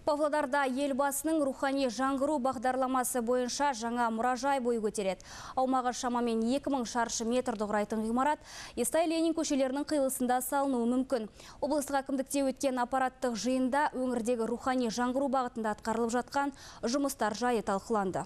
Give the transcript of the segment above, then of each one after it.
Павлодарда елбасының рухани жаңғыру бағдарламасы бойынша жаңа мұражай бой көтереді. Аумағы шамамен 2000 шаршы метрді құрайтын ғимарат Естай Ленин көшелерінің қиылысында салынуы мүмкін. Облыстық әкімдікте өткен аппараттық жиында өңірдегі рухани жаңғыру бағытында атқарылып жатқан жұмыстар жайы талқыланды.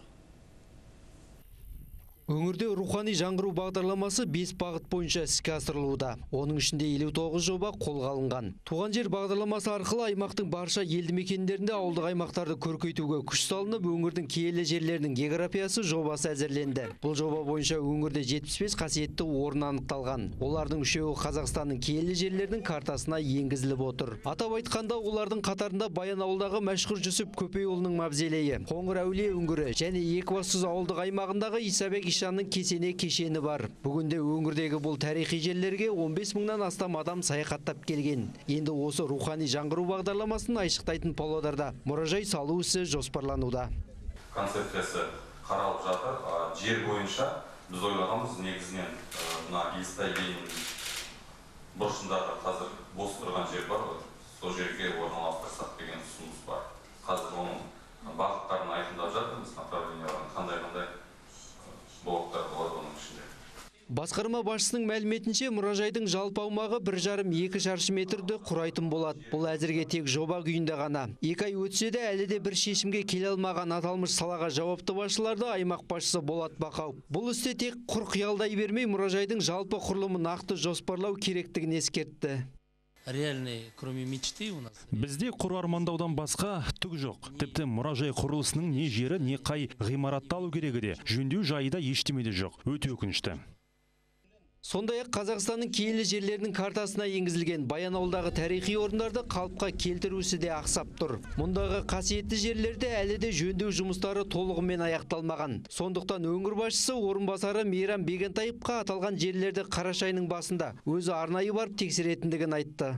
Өңірде рухани жаңғыру бағдарламасы 5 бағыт бойынша іске асырылуда. Оның ішінде 59 жоба қолға алынған. Туған жер бағдарламасы арқылы аймақтың барша елді мекендерінде ауылдық аймақтарды көркейтуге күш салынып, өңірдің киелі жерлерінің географиясы жобасы әзірленді. Бұл жоба бойынша өңірде 75 қасиетті орын анықталған. Олардың үшеуі Қазақстанның киелі жерлерінің картасына енгізіліп отыр. Атап айтқанда, олардың қатарында Баянауылдағы мәшһүр Жүсіп Көпейұлының мавзолейі, Қоңыр әулие үңгірі және Екібастұз ауылдық аймағындағы Исабек Ишанның кесене кешені бар. Бүгінде өңірдегі бұл тарихи жерлерге 15 мыңнан астам адам саяхаттап келген. Енді осы рухани жаңғыру бағдарламасын айшықтайтын Павлодарда мұражай салу ісі жоспарлануда. Концепциясы қаралып жатыр. Жер бойынша біз ойлағанбыз негізінен мына Естай Ленин бұрышындағы қазір бос тұрған жер бар ғой. Сол жерге орналастырсақ деген ұсыныс бар. Қазір оның бағыттарын айқындап жатырмыз, направленияларын қандай блоктар болады оның ішінде. Басқарма басшысының мәліметінше, мұражайдың жалпы аумағы 1,5-2 шаршы метрді құрайтын болады. Бұл әзірге тек жоба күйінде ғана. 2 ай өтсе де әлі де бір шешімге келе алмаған аталмыш салаға жауапты басшыларды аймақ басшысы Болат Бақауов. Бұл істе тек құр қиялдай бермей, мұражайдың жалпы құрылымы нақты жоспарлау керектігін ескертті. Кроме мечты у нас. Бізде құр армандаудан басқа түк жоқ. Тіпті мұражай құрылысының не жері, не қай ғимаратты алу керегі де, жөндеу жайы да ештеме де жоқ. Өте өкінішті. Сондай-ақ Қазақстанның киелі жерлерінің картасына енгізілген Баянауылдағы тарихи орындарды қалыпқа келтірусі де ақсап тұр. Мұндағы қасиетті жерлерде әлі де жөндеу жұмыстары толығымен аяқталмаған. Сондықтан өңір басшысы орынбасары Мейрам Бегентаевқа аталған жерлерді қараша айының басында өзі арнайы барып тексеретіндігін айтты.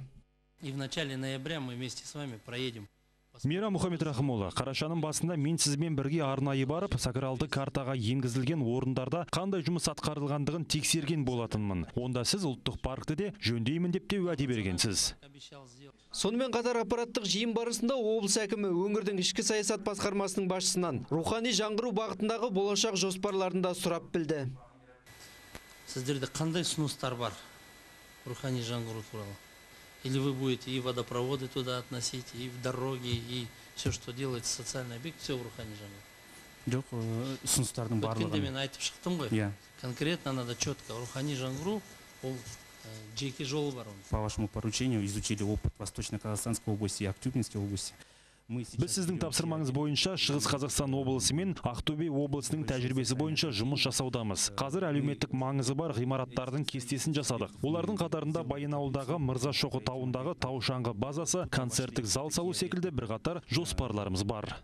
И в начале ноября мы вместе с вами проедем. Мейрам Мұхамедрахымұлы, қарашаның басында мен сізбен бірге арнайы барып, сакралды картаға енгізілген орындарда қандай жұмыс атқарылғандығын тексерген болатынмын. Онда сіз ұлттық паркті де жөндеймін деп те уәде бергенсіз. Сонымен қатар аппараттық жиын барысында облыс әкімі өңірдің ішкі саясат басқармасының басшысынан рухани жаңғыру бағытындағы болашақ жоспарларында сұрап білді. Сіздерде қандай ұсыныстар бар рухани жаңғыру туралы? Или вы будете и водопроводы туда относить, и в дороги, и все, что делается социальный объект, все в рухани жаңғыру? Жоқ, ұсыныстардың барлығын. Өткенде мен айтып шықтым ғой. Конкретно надо четко. Рухани жаңғыру, ол жеке жолы бар. По вашему поручению изучили опыт Восточно-Казахстанской области и Актюбинской области. Біз сіздің тапсырмаңыз бойынша Шығыс Қазақстан облысы мен Ақтөбе облысының тәжірибесі бойынша жұмыс жасаудамыз. Қазір әлеуметтік маңызы бар ғимараттардың кестесін жасадық. Олардың қатарында Баянауылдағы Мырзашоқы тауындағы тау-шаңғы базасы, концерттік зал салу секілді бірқатар жоспарларымыз бар.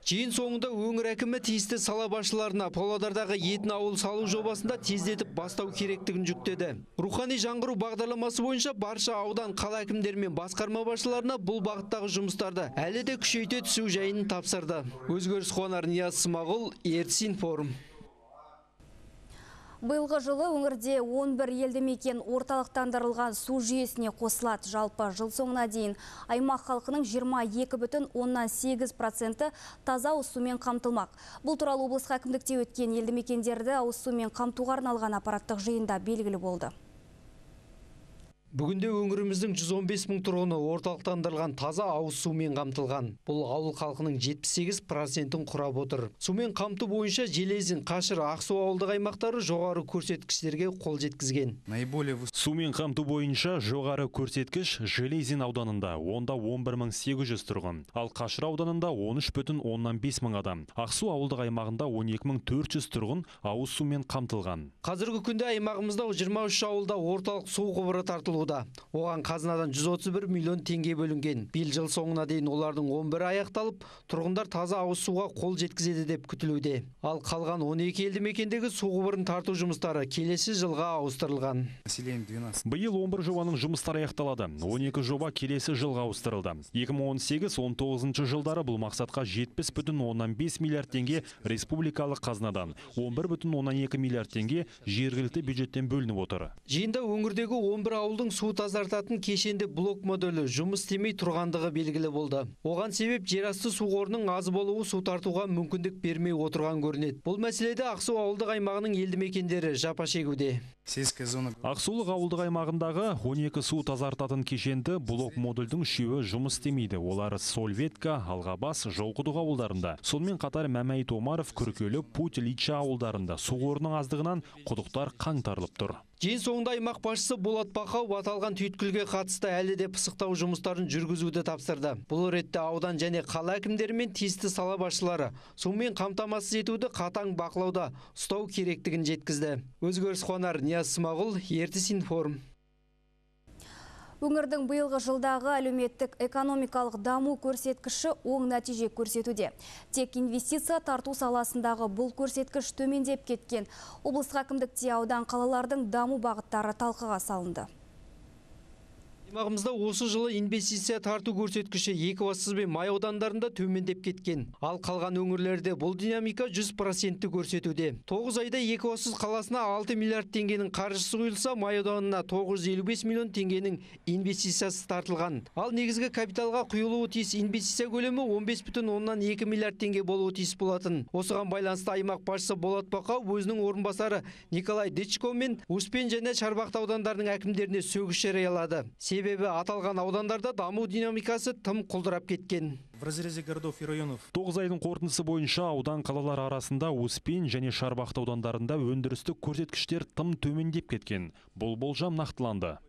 Жиын соңында өңір әкімі тиісті сала басшыларына Павлодардағы Етін ауыл салу жобасында тездетіп бастау керектігін жүктеді. Рухани жаңғыру бағдарламасы бойынша барша аудан қала әкімдері мен басқарма басшыларына бұл бағыттағы жұмыстарды әлі де күшейте түсу жайын тапсырды. Өзгеріс Қуанар, Нияз Смағұл, Ертіс Информ. Биылғы жылы өңірде 11 елді мекен орталықтандырылған су жүйесіне қосылады. Жалпы жыл соңына дейін аймақ халқының 22,8% таза ауыз сумен қамтылмақ. Бұл туралы облыстық әкімдікте өткен елді мекендерді ауыз сумен қамтуға арналған аппараттық жиында белгілі болды. Бүгінде өңіріміздің 115 мың тұрғыны орталықтандырылған таза ауыз сумен қамтылған. Бұл ауыл халқының 78%-ін құрап отыр. Сумен қамту бойынша Железин, Қашыр, Ақсу ауылдық аймақтары жоғары көрсеткіштерге қол жеткізген. Сумен қамту бойынша жоғары көрсеткіш Железин ауданында, онда 11.800 тұрғын, ал Қашыр ауданында 13,5 мың адам. Ақсу ауылдық аймағында 12.400 тұрғын ауыз сумен қамтылған. Қазіргі күнде аймағымызда 23 ауылда орталық су құбыры тартылуда. Оған қазынадан 131 миллион теңге бөлінген. Биыл жыл соңына дейін олардың 11 аяқталып, тұрғындар таза ауыз суға қол жеткізеді деп күтілуде. Ал қалған 12 елді мекендегі су құбырын тарту жұмыстары келесі жылға ауыстырылған. Биыл 11 жобаның жұмыстары аяқталады. 12 жоба келесі жылға ауыстырылды. 2018-19 жылдары бұл мақсатқа 70,5 миллиард теңге республикалық қазынадан, 11,2 миллиард теңге жергілікті бюджеттен бөлініп отыр. Жиында өңірдегі 11 ауылдың су тазартатын кешенді блок модулі жұмыс істемей тұрғандығы белгілі болды. Оған себеп жерасты су қорының аз болуы су тартуға мүмкіндік бермей отырған көрінеді. Бұл мәселеде Ақсу ауылдық аймағының елді мекендері жапа шегуде. Ақсулық ауылдық аймағындағы 12 су тазартатын кешенді блок модульдің 3-і жұмыс істемейді. Олар Солветка, Алғабас, Жолқұдық ауылдарында. Сонымен қатар Мәмәйт Омаров, Күркелі, Путь, Лича ауылдарында су қорының аздығынан құдықтар қаңтарылып тұр. Жиын соңында аймақ басшысы Болат Бақау аталған түйткілге қатысты әлі де пысықтау жұмыстарын жүргізуді тапсырды. Бұл ретте аудан және қала әкімдері мен тиісті сала басшылары сумен қамтамасыз етуді қатаң бақылауда ұстау керектігін жеткізді. Өзгеріс Қуанар, Нияз Смағұл, Ертіс Информ. Өңірдің биылғы жылдағы әлеуметтік экономикалық даму көрсеткіші оң нәтиже көрсетуде. Тек инвестиция тарту саласындағы бұл көрсеткіш төмендеп кеткен. Облыстық әкімдікте аудан қалалардың даму бағыттары талқыға салынды. Аймағымызда осы жылы инвестиция тарту көрсеткіші Екібастұз бен Май аудандарында төмендеп кеткен. Ал қалған өңірлерде бұл динамика 100% көрсетуде. 9 айда Екібастұз қаласына 6 миллиард теңгенің қаржысы құйылса, Май ауданына 955 миллион теңгенің инвестициясы тартылған. Ал негізгі капиталға құйылуы тиіс инвестиция көлемі 15,2 миллиард теңге болуы тиіс болатын. Осыған байланысты аймақ басшысы Болат Бақау өзінің орынбасары Николай Дычко мен Успен және Шарбақты аудандарының әкімдеріне сөгіс жариялады. Себебі аталған аудандарда даму динамикасы тым құлдырап кеткен. В разрезе городов и районов 9 айдың қорытындысы бойынша аудан қалалар арасында Успен және Шарбақты аудандарында өндірістік көрсеткіштер тым төмендеп кеткен. Бұл болжам нақтыланды.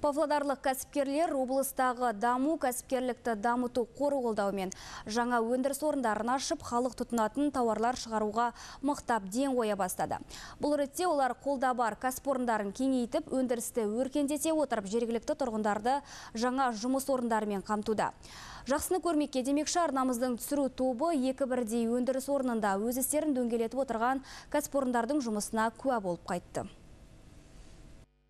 Павлодарлық кәсіпкерлер облыстағы даму кәсіпкерлікті дамыту қоры қолдауымен жаңа өндіріс орындарын ашып, халық тұтынатын тауарлар шығаруға мықтап ден қоя бастады. Бұл ретте олар қолда бар кәсіпорындарын кеңейтіп, өндірісті өркендете отырып, жергілікті тұрғындарды жаңа жұмыс орындарымен қамтуда. Жақсыны көрмекке демекші арнамыздың түсіру тобы екі бірдей өндіріс орнында өз істерін дөңгелетіп отырған кәсіпорындардың жұмысына куә болып қайтты.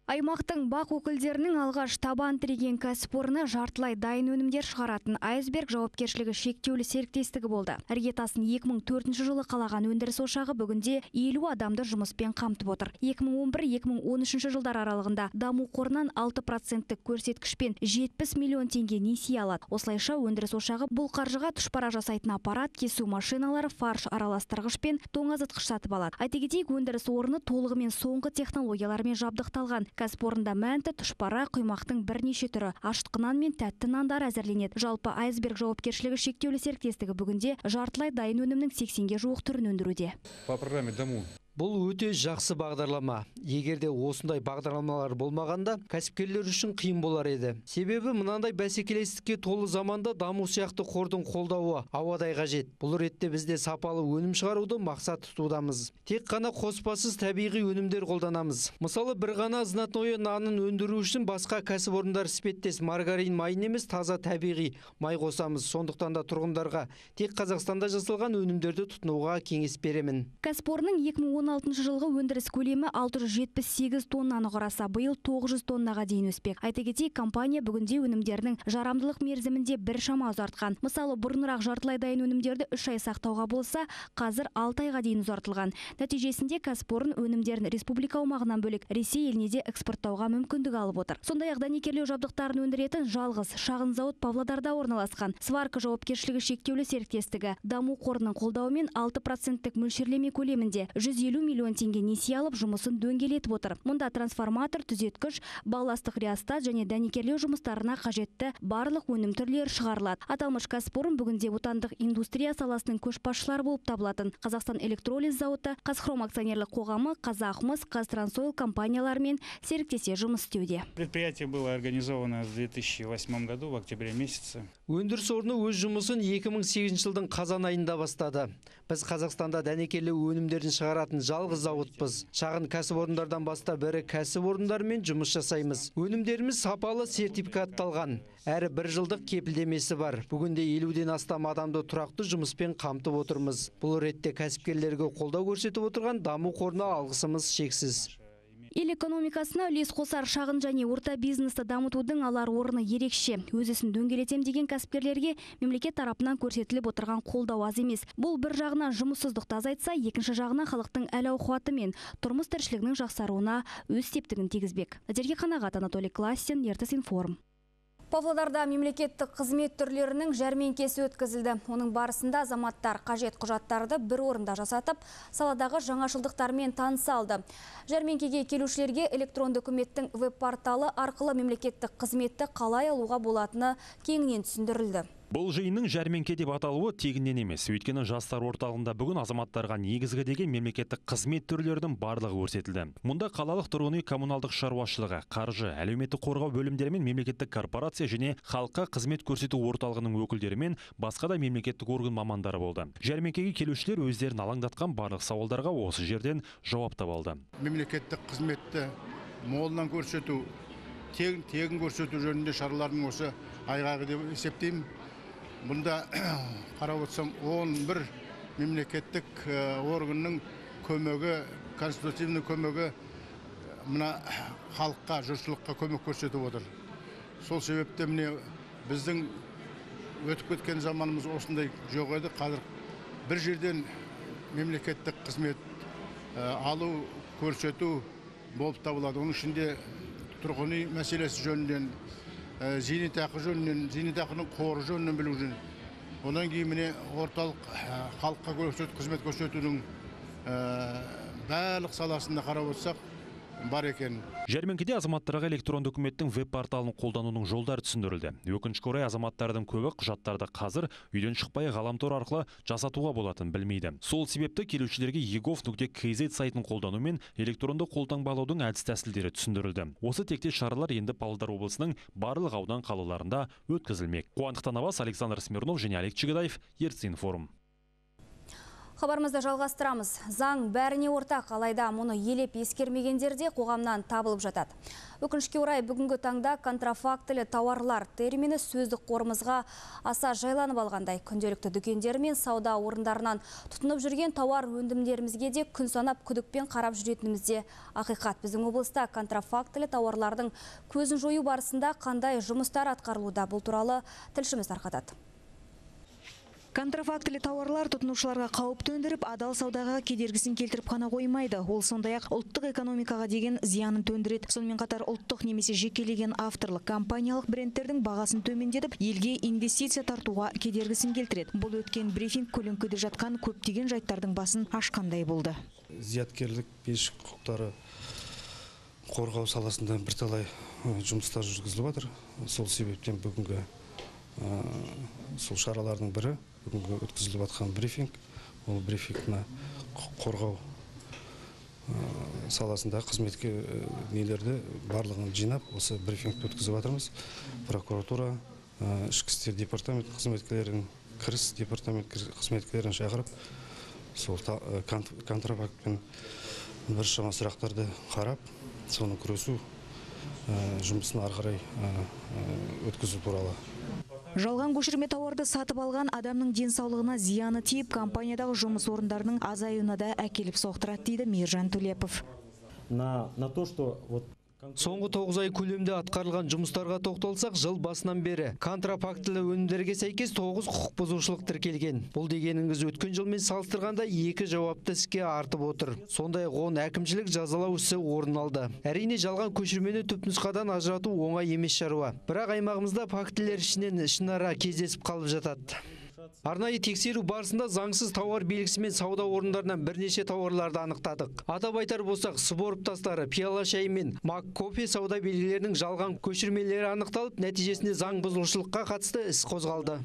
Аймақтың бақ өкілдерінің алғаш табан тіреген кәсіпорны жартылай дайын өнімдер шығаратын Айсберг жауапкершілігі шектеулі серіктестігі болды. Іргетасын 2004 жылы қалаған өндіріс ошағы бүгінде 50 адамды жұмыспен қамтып отыр. 2011-2013 жылдар аралығында даму қорынан 6% көрсеткішпен 70 миллион теңге несие алады. Осылайша өндіріс ошағы бұл қаржыға тұшпара жасайтын аппарат, кесу машиналары, фарш араластырғыш пен тоңазытқыш сатып алады. Айта кетейік, өндіріс орны толығымен соңғы технологиялармен жабдықталған. Кәсіпорында мәнті, тұшпара, құймақтың бірнеше түрі, ашытқы нан мен тәтті нандар әзірленеді. Жалпы Айсберг жауапкершілігі шектеулі серіктестігі бүгінде жартылай дайын өнімнің 80-ге жуық түрін өндіруде. По программе «Даму». Бұл өте жақсы бағдарлама. Егерде осындай бағдарламалар болмағанда, кәсіпкерлер үшін қиын болар еді. Себебі мынандай бәсекелестікке толы заманда даму сияқты қордың қолдауы ауадай қажет. Бұл ретте бізде сапалы өнім шығаруды мақсат тұтудамыз. Тек қана қоспасыз табиғи өнімдер қолданамыз. Мысалы, бір ғана знатное нанын өндіру үшін басқа кәсіпорындар іспеттес маргарин майын емес, таза табиғи май қосамыз. Сондықтан да тұрғындарға тек Қазақстанда жасалған өнімдерді тұтынуға кеңес беремін. Кәсіпорынның 2016 жылғы өндіріс көлемі 678 тоннаны құраса, биыл 900 тоннаға дейін өспек. Айта кетейік, компания бүгінде өнімдерінің жарамдылық мерзімінде біршама ұзартқан. Мысалы, бұрынырақ жартылай дайын өнімдерді 3 ай сақтауға болса, қазір 6 айға дейін ұзартылған. Нәтижесінде кәсіпорын өнімдерін республика аумағынан бөлек Ресей еліне де экспорттауға мүмкіндік алып отыр. Сондай-ақ дәнекерлеу жабдықтарын өндіретін жалғыз шағын зауыт Павлодарда орналасқан. Сварка жауапкершілігі шектеулі серіктестігі даму қорының қолдауымен 6% мөлшерлеме көлемінде 150 миллион теңге несие алып, жұмысын дөңгелетіп отыр. Мұнда трансформатор, түзеткіш, балластық реостат және дәнекерлеу жұмыстарына қажетті барлық өнім түрлері шығарылады. Аталмыш кәсіпорын бүгінде отандық индустрия саласының көшбасшылары болып табылатын Қазақстан электролиз зауыты, Қазхром акционерлік қоғамы, Қазақмыс, Қазтрансойл компанияларымен серіктесе жұмыс істеуде. Предприятие было организовано в 2008 году, в октябре месяце. Өндіріс орны өз жұмысын 2008 жылдың қазан айында бастады. Біз Қазақстанда дәнекерлеу өнімдерін шығаратын жалғыз зауытпыз. Шағын кәсіпорындардан баста бірі кәсіпорындармен жұмыс жасаймыз. Өнімдеріміз сапалы сертификатталған. Әрі 1 жылдық кепілдемесі бар. Бүгінде 50-ден астам адамды тұрақты жұмыспен қамтып отырмыз. Бұл ретте кәсіпкерлерге қолдау көрсетіп отырған даму қорына алғысымыз шексіз. Ел экономикасына үлес қосар шағын және орта бизнесті дамытудың алар орны ерекше. Өз ісін дөңгелетем деген кәсіпкерлерге мемлекет тарапынан көрсетіліп отырған қолдау аз емес. Бұл бір жағынан жұмыссыздықты азайтса, екінші жағынан халықтың әл-ауқаты мен тұрмыс тіршілігінің жақсаруына өз септігін тигізбек. Назерке Қанағат, Анатолий Классин, Ертіс Информ. Павлодарда мемлекеттік қызмет түрлерінің жәрмеңкесі өткізілді. Оның барысында азаматтар қажет құжаттарды бір орында жасатып, саладағы жаңашылдықтармен таныса алды. Жәрмеңкеге келушілерге электронды үкіметтің веб-порталы арқылы мемлекеттік қызметті қалай алуға болатыны кеңінен түсіндірілді. Бұл жиынның жәрмеңке деп аталуы тегіннен емес. Өйткені жастар орталығында бүгін азаматтарға негізгі деген мемлекеттік қызмет түрлерінің барлығы көрсетілді. Мұнда қалалық тұрғын үй коммуналдық шаруашылығы, қаржы, әлеуметтік қорғау бөлімдері мен мемлекеттік корпорация және халыққа қызмет көрсету орталығының өкілдері мен басқа да мемлекеттік орган мамандары болды. Жәрмеңкеге келушілер өздерін алаңдатқан барлық сауалдарға осы жерден жауап таба алды. Мемлекеттік қызметті молынан көрсету, тегін көрсету жөнінде шаралардың осы айғағы деп есептеймін. Бұнда қарап отырсам 11 мемлекеттік органның көмегі, конституцияның көмегі мына халыққа, жұртшылыққа көмек көрсетіп отыр. Сол себепте міне біздің өтіп кеткен заманымыз осындай жоқ еді. Қазір бір жерден мемлекеттік қызмет алу, көрсету болып табылады. Оның ішінде тұрғын үй мәселесі жөнінен, зейнетақы жөнінен, зейнетақының қоры жөнінен білу жөн. Одан кейін міне орталық халыққа қызмет көрсетудің барлық саласында қарап отырсақ бар екен. Жәрмеңкеде азаматтарға электронды үкіметтің веб-порталын қолданудың жолдары түсіндірілді. Өкінішке орай азаматтардың көбі құжаттарды қазір үйден шықпай ғаламтор арқылы жасатуға болатын білмейді. Сол себепті келушілерге egov.kz сайтын қолдану мен электронды қолтаңбалаудың әдіс-тәсілдері түсіндірілді. Осы тектес шаралар енді Павлодар облысының барлық аудан қалаларында өткізілмек. Қуандықтан Абас, Александр Смирнов және Олег Чегадаев, Ертіс Информ. Хабарымызды жалғастырамыз. Заң бәріне ортақ, алайда мұны елеп ескермегендерде қоғамнан табылып жатады. Өкінішке орай бүгінгі таңда контрафактілі тауарлар термині сөздік қорымызға аса жайланып алғандай. Күнделікті дүкендер мен сауда орындарынан тұтынып жүрген тауар өндімдерімізге де күн санап күдікпен қарап жүретінімізде ақиқат. Біздің облыста контрафактілі тауарлардың көзін жою барысында қандай жұмыстар атқарылуда, бұл туралы тілшіміз тарқатады. Контрафактілі тауарлар тұтынушыларға қауіп төндіріп, адал саудаға кедергісін келтіріп қана қоймайды. Ол сондай-ақ ұлттық экономикаға деген зиянын төндіреді. Сонымен қатар ұлттық немесе жекелеген авторлық компаниялық брендтердің бағасын төмендетіп, елге инвестиция тартуға кедергісін келтіреді. Бұл өткен брифинг көлеңкеде жатқан көптеген жайттардың басын ашқандай болды. Зияткерлік меншік құқықтары қорғау саласында бірталай жұмыстар жүргізіліп жатыр. Сол себептен бүгінгі сол шаралардың бірі бүгінгі өткізіліп жатқан брифинг. Ол брифингна қорғау саласында қызметке нелерді барлығын жинап, осы брифингті өткізіп жатырмыз. Прокуратура, ішкі істер департамент қызметкерлерін, кіріс департамент қызметкерлерін шақырып, сол контрафактпен біршама сұрақтарды қарап, соны күресу жұмысын ары қарай өткізу туралы. Жалған көшірме тауарды сатып алған адамның денсаулығына зияны тиіп, компаниядағы жұмыс орындарының азаюына да әкеліп соқтырады дейді Мейіржан Төлепов. Соңғы 9 ай көлемде атқарылған жұмыстарға тоқталсақ, жыл басынан бері контрафактілі өнімдерге сәйкес 9 құқық бұзушылық тіркелген. Бұл дегеніңіз өткен жылмен салыстырғанда 2 жауапты іске артып отыр. Сондай-ақ оны әкімшілік жазалау ісі орын алды. Әрине жалған көшірмені түпнұсқадан ажырату оңай емес шаруа. Бірақ аймағымызда фактілер ішінен ішінара кездесіп қалып жатады. Арнайы тексеру барысында заңсыз тауар белгісімен сауда орындарынан бірнеше тауарларды анықтадық. Атап айтар болсақ, спорт тастары, пиала шай мен мак кофе сауда белгілерінің жалған көшірмелері анықталып, нәтижесінде заң бұзушылыққа қатысты іс қозғалды.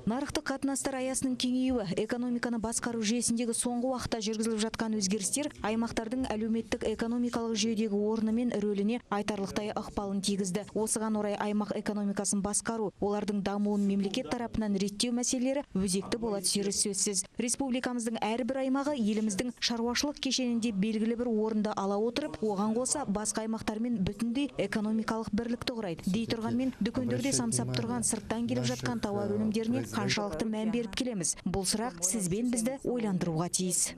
Нарықтық қатынастар аясының кеңеюі, экономиканы басқару жүйесіндегі соңғы уақытта жүргізіліп жатқан өзгерістер аймақтардың әлеуметтік экономикалық жүйедегі орны мен рөліне айтарлықтай ықпалын тигізді. Осыған орай аймақ экономикасын басқару, олардың дамуын мемлекет тарапынан реттеу мәселелері өзекті бола түсері сөзсіз. Республикамыздың әрбір аймағы еліміздің шаруашылық кешенінде белгілі бір орынды ала отырып, оған қоса басқа аймақтармен бүтіндей экономикалық бірлікті құрайды. Дей тұрғанмен, дүкендерде самсап тұрған сырттан келіп жатқан тауар өнімдеріне қаншалықты мән беріп келеміз? Бұл сұрақ сізбен бізді ойландыруға тиіс.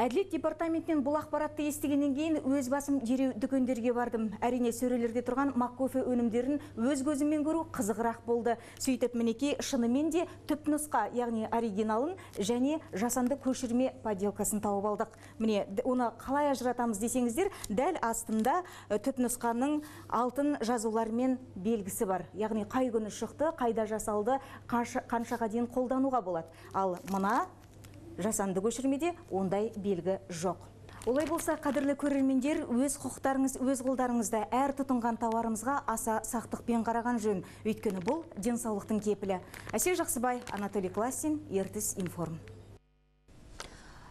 Әділет департаментінен бұл ақпаратты естігеннен кейін өз басым дереу дүкендерге бардым. Әрине сөрелерде тұрған маккофе өнімдерін өз көзіммен көру қызығырақ болды. Сөйтіп мінекей шынымен де түпнұсқа, яғни оригиналын және жасанды көшірме поделкасын тауып алдық. Міне, оны қалай ажыратамыз десеңіздер, дәл астында түпнұсқаның алтын жазулармен белгісі бар. Яғни қай күні шықты, қайда жасалды, қаншаға дейін қолдануға болады. Ал мына жасанды көшірмеде ондай белгі жоқ. Олай болса, қадірлі көрермендер, өз құқықтарыңыз, өз қолдарыңызда әр тұтынған тауарымызға аса сақтықпен қараған жөн. Өйткені бұл денсаулықтың кепілі. Әсел Жақсыбай, Анатолий Классин, Ертіс Информ.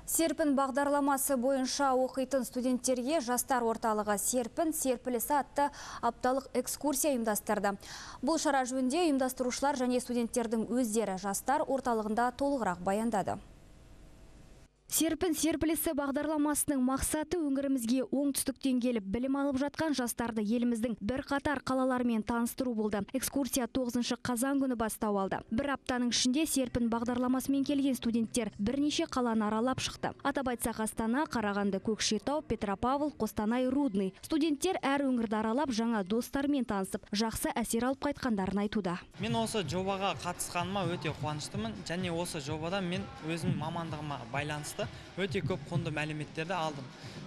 Серпін бағдарламасы бойынша оқитын студенттерге жастар орталығы серпілісі атты апталық экскурсия ұйымдастырды. Бұл шара жөнінде ұйымдастырушылар және студенттердің өздері жастар орталығында толығырақ баяндады. Серпілісі бағдарламасының мақсаты өңірімізге оңтүстіктен келіп білім алып жатқан жастарды еліміздің бірқатар қалаларымен таныстыру болды. Экскурсия 9 қазан күні бастау алды. Бір аптаның ішінде серпін бағдарламасымен келген студенттер бірнеше қаланы аралап шықты. Атап айтсақ Астана, Қарағанды, Көкшетау, Петропавл, Қостанай, Рудный. Студенттер әр өңірді аралап жаңа достармен танысып, жақсы әсер алып қайтқандарын айтуда. Мен осы жобаға қатысқаныма өте қуаныштымын, және осы жобада мен өзім мамандығыма байланысты өте көп құнды мәліметтерді алдым.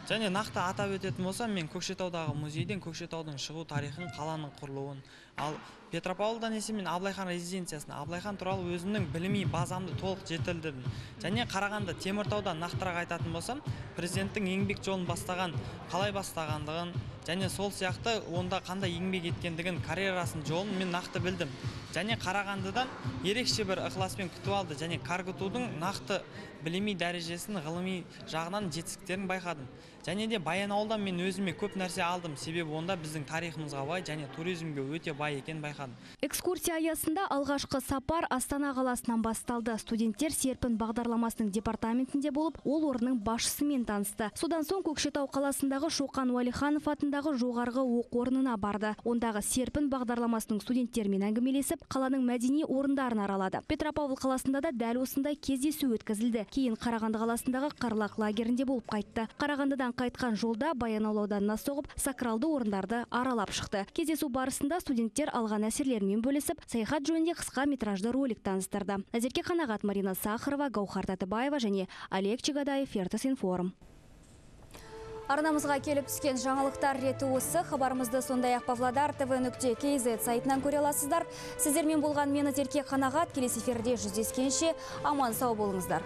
Және нақты атап өтетін болсам, мен Көкшетаудағы музейден Көкшетаудың шығу тарихын, қаланың құрылуын, ал Петропавлдан есе мен Абылайхан резиденциясына, Абылайхан туралы өзімнің білімі базамды толық жетілдірдім. Және Қарағанды, Теміртаудан нақтырақ айтатын болсам, президенттің еңбек жолын бастаған, қалай бастағандығын, және сол сияқты онда қандай еңбек еткендігін, карьерасын жолын мен нақты білдім. Және Қарағандыдан ерекше бір ықыласпен күтіп алды, және каргытудың нақты білімі дәрежесін, ғылыми жағынан жетістіктерін байқадым. Және де Баянауылдан мен өзіме көп нәрсе алдым, себебі онда біздің тарихымызға бай және туризмге өте бай екен байқадым. Экскурсия аясында алғашқы сапар Астана қаласынан басталды. Студенттер серпін бағдарламасының департаментінде болып, ол орынның басшысымен танысты. Содан соң Көкшетау қаласындағы Шоқан Уәлиханов атындағы жоғарғы оқу орнына барды. Ондағы серпін бағдарламасының студенттермен әңгімелесіп, қаланың мәдени орындарын аралады. Петропавл қаласында да дәл осындай кездесу өткізілді. Кейін Қарағанды қаласындағы Қарлақ лагерінде болып қайтты. Қарағандыдан қайтқан жолда Баянауыл ауданына соғып, сакралды орындарды аралап шықты. Кездесу барысында студенттер алған әсерлерімен бөлісіп, саяхат жөнінде қысқа метражды ролик таныстырды. Назерке Қанағат, Марина Сахарова, Гаухар Татыбаева және Олег Чегадаев, Ертіс Информ. Арнамызға келіп түскен жаңалықтар реті осы. Хабарымызды сондай-ақ Павлодар tv.kz сайтынан көре аласыздар. Сіздермен болған мені Назерке Қанағат, келесі эфирде жүздескенше аман сау болыңыздар.